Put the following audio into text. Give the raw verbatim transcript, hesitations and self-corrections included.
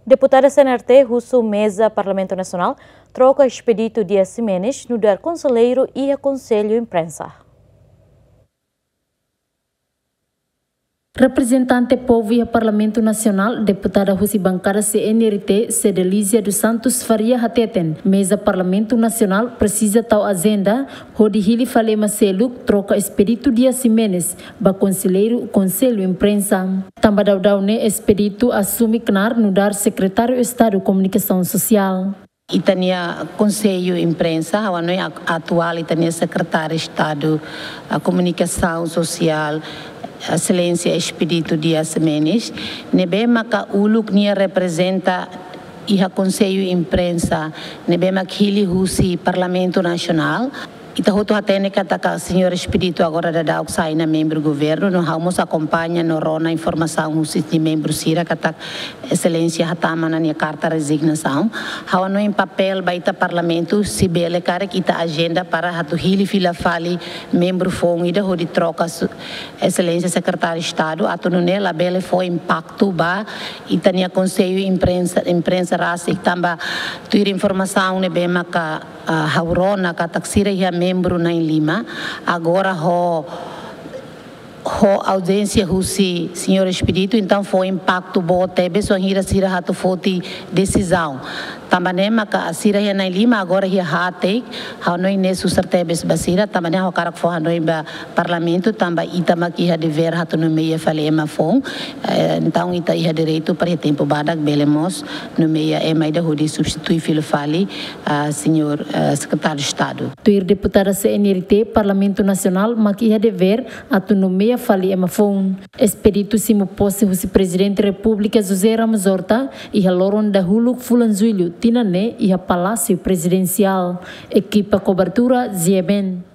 Deputada C N R T husu meza Parlamentu Nasionál troka Expedito Dias Ximenes nu'udar konselleiru iha Konsellu Imprensa. Reprezentante povu iha Parlamentu Nasionál, deputada husi bankada C N R T, Cedelizia dos Santos Faria hateten, meza Parlamentu Nasionál presiza tau ajenda hodi hili fali ema seluk troka Expedito Dias Ximenes ba konselleiru Konsellu Imprensa. Tanba daudaun ne'e Expedito asume knaar nu'udar Sekretáriu Estadu Komunikasaun Sosiál. Ita-nia Konsellu Imprensa, ha'u hanoin ak-, atuál ita-nia Sekretáriu Estadu, ah, Komunikasaun Sosiál, Exelénsia Expedito Dias Ximenes, ne'ebé maka uluk nia reprezenta iha Konsellu Imprensa, ne'ebé mak hili husi Parlamentu Nasionál. Ita hotu hatene katak señór Expedito agora daudauk sai ona membru governu, no ha'u mós akompaña no rona informasaun husi nia membru sira katak Exelénsia hatama ona nia karta rezignasaun. Ha'u hanoin papél ba ita Parlamentu, se bele karik ita ajenda para atu hili fila fali membru foun ida hodi troka su-, Exelénsia Sekretáriu Estadu, atu nune'e labele fó impaktu ba ita-nia Konsellu Imprensa, Imprensa rasik, tanba tuir informasaun ne'ebé maka, ah, ha'u rona katak sira iha membru na'in-lima, agora ho, ho auzénsia husi señór Expedito, entaun fó impaktu boot tebes, wainhira sira atu foti desizaun. Tanba ne'e maka sira iha na'in-lima, agora iha haat, ha'u hanoin ne'e susar tebes ba sira, tanba ne'e ha'u hakarak fó hanoin ba Parlamentu, tanba ita mak iha devér atu nomeia fali ema foun. Eh, entaun ita iha direitu para iha tempu badak bele mós nomeia ema ida hodi substitui fila fali, ah, señór, eh, Sekretáriu Estadu. Tuir deputada C N R T, Parlamentu Nasionál mak iha devér atu nomeia fali ema foun. Expedito simu pose husi Prezidente Repúblika José Ramos Horta iha loron dahuluk fulan Jullu tinan ne'e iha Palásiu Prezidensiál. Ekipa kobertura G M N.